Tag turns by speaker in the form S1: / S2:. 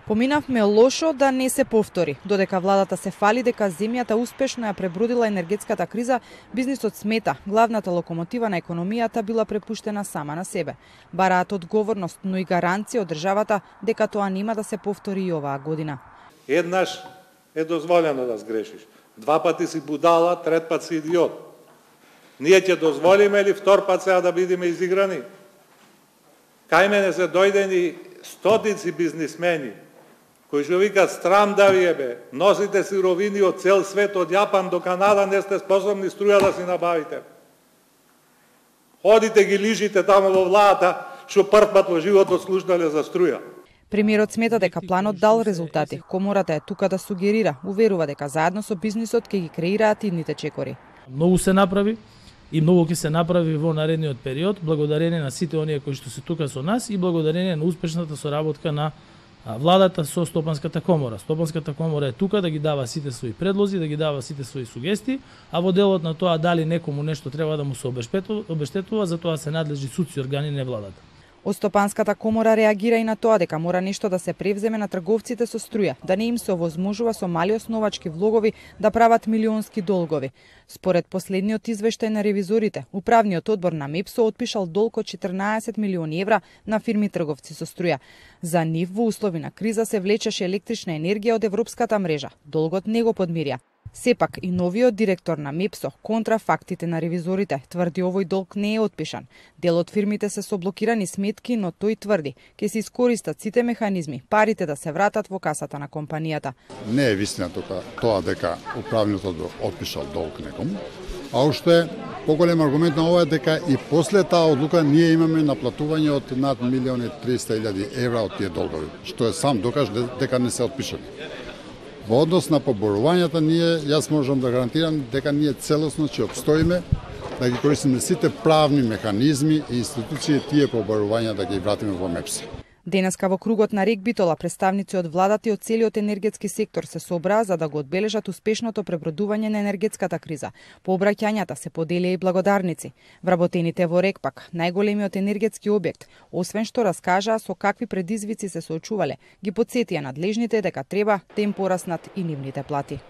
S1: Поминавме лошо да не се повтори. Додека владата се фали дека земјата успешно ја пребродила енергетската криза, бизнисот смета главната локомотива на економијата била препуштена сама на себе. Бараат одговорност, но и гаранција од државата дека тоа нема да се повтори и оваа година.
S2: Еднаш е дозволено да сгрешиш. Два пати си будала, трет пат си идиот. Ние ќе дозволиме ли втор пат сега да бидеме изиграни? Кај мене се дојдени стотици бизнисмени кои што викаат страм да ви бе, носите сировини од цел свет, од Јапан до Канада, не сте способни струја да си набавите. Ходите ги лижите тамо во владата, што прв пат во животот слушнале за струја.
S1: Премиерот смета дека планот дал резултати. Комората е тука да сугерира, уверува дека заедно со бизнисот ќе ги креираат идните чекори.
S3: Многу се направи и многу ќе се направи во наредниот период, благодарение на сите оние кои што се тука со нас и благодарение на успешната соработка на владата со Стопанската комора. Стопанската комора е тука да ги дава сите своји предлози, да ги дава сите своји сугестии, а во делот на тоа дали некому нешто треба да му се обештетува, за тоа се надлежи судски органи, не владата.
S1: Од Стопанската комора реагира и на тоа дека мора нешто да се превземе на трговците со струја, да не им се овозможува со мали основачки влогови да прават милионски долгови. Според последниот извештај на ревизорите, управниот одбор на МЕПСО отпишал долг од 14 милиони евра на фирми трговци со струја. За нив во услови на криза се влечеше електрична енергија од европската мрежа. Долгот не го подмирија. Сепак и новиот директор на МЕПСО контра фактите на ревизорите тврди овој долг не е отпишан. Дел од фирмите се со блокирани сметки, но тој тврди ќе се искористат сите механизми парите да се вратат во касата на компанијата.
S4: Не е вистина тоа дека управниот одбор отпишал долг некому, а што е поголем аргумент на ова е дека и после таа одлука ние имаме наплатување од над 1.300.000 евра од тие долгови, што е сам докаж дека не се отпишани. Во однос на поборувањата, јас можам да гарантирам дека ние целосно ќе обстоиме, да ги користиме сите правни механизми и институции тие поборувања да ги вратиме во МЕПСО.
S1: Денеска во кругот на Рек Битола представници од владата и од целиот енергетски сектор се собраа за да го одбележат успешното пребродување на енергетската криза. По обраќањата се поделија и благодарници. Вработените во Рек пак, најголемиот енергетски објект, освен што раскажаа со какви предизвици се соочувале, ги потсетија надлежните дека треба да им пораснат и нивните плати.